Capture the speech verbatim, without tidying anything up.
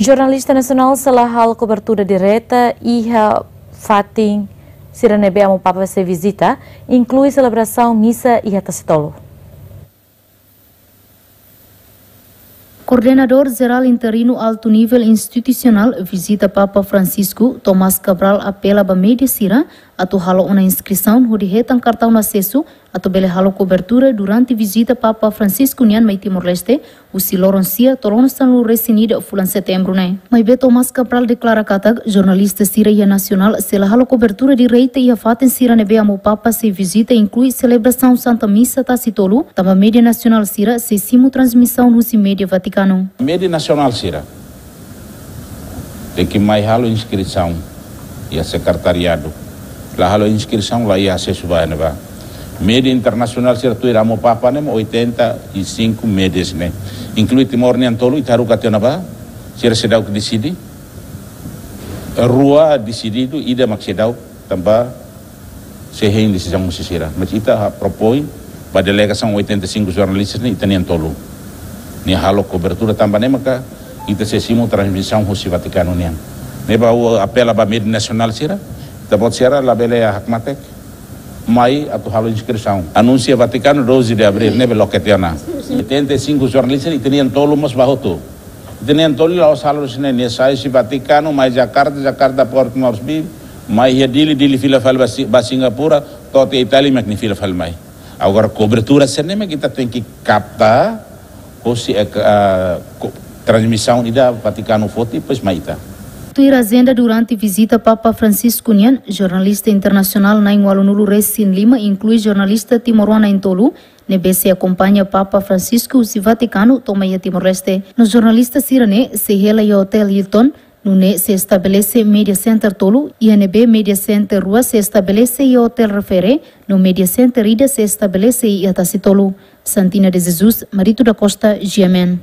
Jornalista nasionál sei la halo kobertura direta iha fatin sira ne'ebé Amu Papa sei vizita, inklui selebrasaun misa iha Tasitolu. Koordenadór Jerál Interinu Altu Nivel Institusionál Vizita Papa Francisco, Tomás Cabral, apela ba média sira atu halo ona inskrisaun hodi hetan kartaun asesu atu bele halo kobertura durante vizita Papa Francisco nian mai Timor-Leste, husi loron sia to'o loron sanulu-resin-ida fulan Setembru ne'e. Maibé Tomás Cabral deklara katak jornalista sira iha nasionál sei la halo kobertura direta iha fatin sira ne'ebé Amu Papa sei vizita, inklui selebrasaun Santa Misa Tasitolu, tanba média nasionál sira sei simu transmisaun husi média Vatikanu. Média nasionál sira tenke mai halo inskrisaun iha sekretariadu. La halo inskrisaun, la iha asesu ba ne'ebá. Média internasionál sira tuir Amu Papa ne'e mak oitenta e cinco médias ne'e. Inklui Timor nian tolu, ita haruka tiha ona ba, sira seidauk deside. Rua desididu, ida mak seidauk, tanba sei hein desizaun husi sira. Mas ita ha propoin ba delegasaun oitenta e cinco jornalistas ne'e, ita nian tolu, nia halo kobertura tanba ne'e maka ita sei simu transmisaun husi Vatikanu nian. Ne'ebá ha'u apela ba média nasionál sira, ita-boot sira labele hakmatek, mai atu halo inskrisaun. Anúnsia Vatikanu doze de abril, ne'ebé loke tiha ona. Oitenta e cinco jornalistas, ita nian tolu mós ba hotu. Ita nian tolu la'ós halo husi ne'e, nia sai husi Vatikanu, mai Jakarta, Jakarta Porto Moresby, mai iha Dili, Dili fila fali ba Si-, ba Singapura, to'o iha Itália mak nia fila fali mai. Agora kobertura sira-ne'e mak ita tenke kapta husi, eh, ah, ko-, transmisaun ida Vatikanu foti, depois mai ita. Tuir ajenda durante vizita Papa Francisco nian, jornalista internasionál na'in ualunulu-resin-lima, inklui jornalista timoroan na'in tolu, ne'ebé sei akompaña Papa Francisco husi Vatikanu to'o mai iha Timor-Leste. No jornalista sira-ne'e sei hela iha Hotel Hilton, nune'e sei estabelese media center tolu, iha ne'ebé media center rua sei estabelese iha Hotel Refere, no media center ida sei estabelese iha Tasitolu. Santina de Jesus, Marito da Costa, G M N.